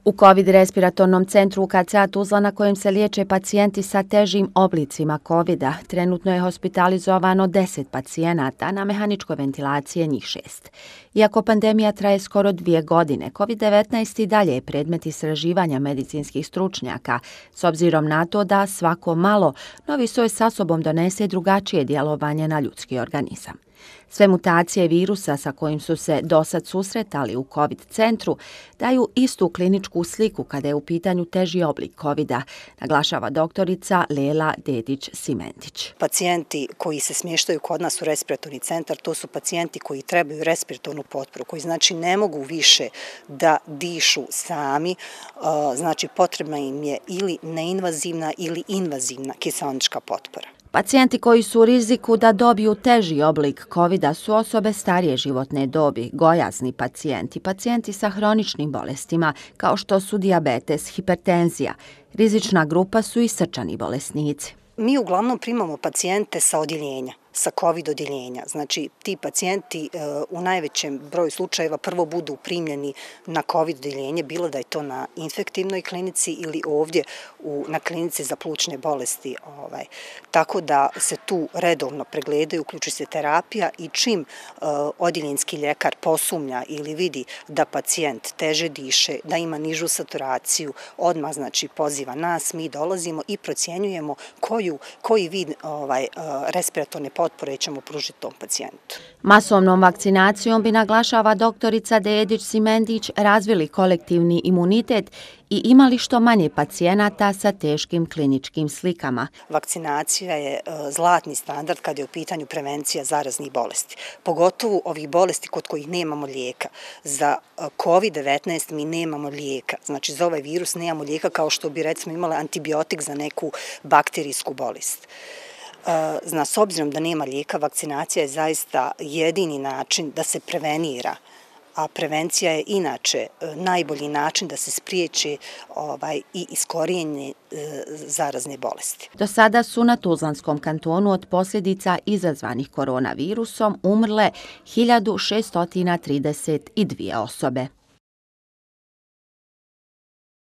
U COVID respiratornom centru UKC Tuzla na kojem se liječe pacijenti sa težim oblicima COVID-a, trenutno je hospitalizovano 10 pacijenata, na mehaničkoj ventilaciji njih 6. Iako pandemija traje skoro 2 godine, COVID-19 i dalje je predmet istraživanja medicinskih stručnjaka, s obzirom na to da svako malo novi soj sa sobom donese drugačije djelovanje na ljudski organizam. Sve mutacije virusa sa kojim su se dosad susretali u COVID centru daju istu kliničku sliku kada je u pitanju teži oblik COVID-a, naglašava doktorica Lela Dedić-Simentić. Pacijenti koji se smještaju kod nas u respiratorni centar, to su pacijenti koji trebaju respiratornu potporu, koji znači ne mogu više da dišu sami, znači potrebna im je ili neinvazivna ili invazivna kiseonička potpora. Pacijenti koji su u riziku da dobiju teži oblik COVID-a su osobe starije životne dobi, gojazni pacijenti, pacijenti sa hroničnim bolestima kao što su dijabetes, hipertenzija. Rizična grupa su i srčani bolesnici. Mi uglavnom primamo pacijente sa odjeljenja, sa COVID odjeljenja. Znači, ti pacijenti u najvećem broju slučajeva prvo budu primljeni na COVID odjeljenje, bilo da je to na infektivnoj klinici ili ovdje na klinici za plućne bolesti. Tako da se tu redovno pregledaju, uključuje se terapija i čim odjeljenski ljekar posumnja ili vidi da pacijent teže diše, da ima nižu saturaciju, odmah znači poziva nas, mi dolazimo i procjenjujemo koji vid respiratorne potpore ćemo pružiti tom pacijentu. Masovnom vakcinacijom bi, naglašava doktorica Dedić-Simentić, razvili kolektivni imunitet i imali što manje pacijenata sa teškim kliničkim slikama. Vakcinacija je zlatni standard kad je u pitanju prevencija zaraznih bolesti. Pogotovo ovih bolesti kod kojih nemamo lijeka. Za COVID-19 mi nemamo lijeka. Znači za ovaj virus nemamo lijeka kao što bi recimo imali antibiotik za neku bakterijsku bolest. S obzirom da nema lijeka, vakcinacija je zaista jedini način da se prevenira, a prevencija je inače najbolji način da se spriječi i iskorijenje zarazne bolesti. Do sada su na Tuzlanskom kantonu od posljedica izazvanih koronavirusom umrle 1632 osobe.